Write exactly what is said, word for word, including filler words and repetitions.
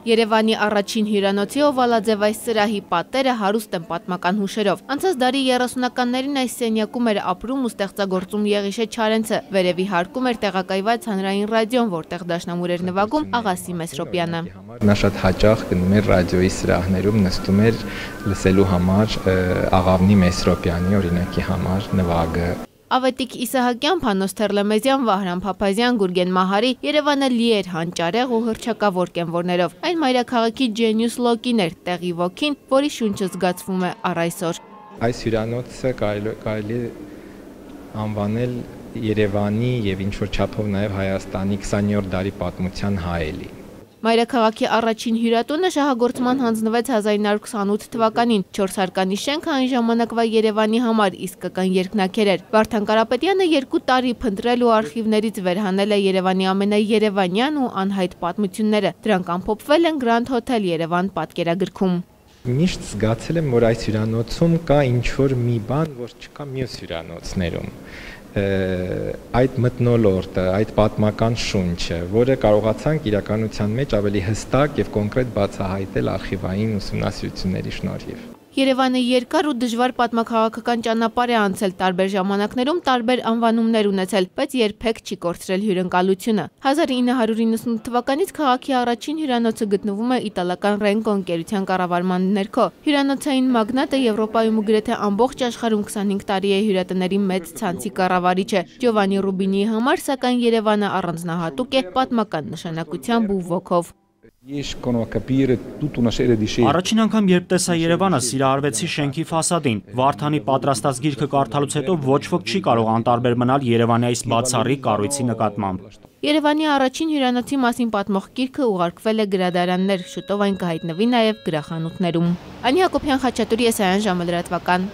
Երևանի առաջին հյուրանոցի օվալաձև այս սրահի պատերը հարուստ են պատմական հուշերով։ Անցած դարի երեսունականներին այս սենյակում էր ապրում ու ստեղծագործում Եղիշե Չարենցը, վերևի հարկում էր տեղակայված հանրային ռադիոն, որտեղ դաշնամուր էր նվագում Աղասի Մեսրոպյանը։ Նա շատ հաճախ գնում էր ռադիոյի սրահներում, նստում էր լսելու համար Աղավնի Մեսրոպյանի օրինակի համար նվագը։ Ավետիք Իսահակյան, Փանոս Թերլեմեզյան, Վահրամ Փափազյան, Գուրգեն Մահարի Երևանը լի էր հանճարեղ ու հռչակավոր կենվորներով։ Այն մայրաքաղաքի ջենյուս լոկին էր, տեղի ոգին, որի շունչը զգացվում է առ այսօր։ Այս հյուրանոցը կարելի է անվանել Երևանի եւ ինչ-որ չափով նաեւ Հայաստանի քսաներորդ դարի պատմության հայելի։ Մայրաքաղաքի առաջին հյուրատունը շահագործման հանձնվեց հազար ինը հարյուր քսանութ թվականին, չորս հարկանի շենքը այն ժամանակվա Երևանի համար իսկական երկնաքեր էր։ Վարդան Կարապետյանը երկու տարի փնտրել ու արխիվներից վերհանել է Երևանի ամենաերևանյան ու անհայտ պատմությունները։ Դրանք ամփոփվել են Grand Hotel Երևան պատկերագրքում։ Միշտ զգացել եմ, որ այս հյուրանոցում կա ինչ-որ մի բան, որ չկա մյուս հյուրանոցներում։ Այդ մթնոլորտը, այդ պատմական շունչը, որը կարողացանք իրականության մեջ ավելի հստակ եւ կոնկրետ բացահայտել արխիվային ուսումնասիրությունների շնորհիվ։ Երևանը երկար ու դժվար պատմաքաղաքական ճանապարհ է անցել, տարբեր ժամանակներում տարբեր անվանումներ ունեցել, բայց երբեք չի կորցրել հյուրընկալությունը։ հազար ինը հարյուր իննսունութ թվականից քաղաքի առաջին հյուրանոցը գտնվում է իտալական Ռենկո ընկերության կառավարման ներքո։ Հյուրանոցային մագնատը Եվրոպայում ու գրեթե ամբողջ աշխարհում քսանհինգ տարի է հյուրատների մեծ ցանցի կառավարիչ է։ Ջովանի Ռուբինիի համար, սակայն Երևանը առանձնահատուկ է պատմական նշանակությամբ ու ոգով։ Առաջին անգամ երբ տեսա Երևանը, սիրահարվեցի շենքի ֆասադին։ Վարդանի պատրաստած գիրքը կարդալուց հետո ոչ ոք չի կարող անտարբեր մնալ Երևանի այս բացառիկ կառույցի նկատմամբ։ Երևանի առաջին հյուրանոցի մասին պատմող գիրքը ուղարկվել է գրադարաններ, շուտով այն կհայտնվի նաև գրախանութներում։ Անի Հակոբյան, Խաչատուրի, Եսայան ժամը լրատվական։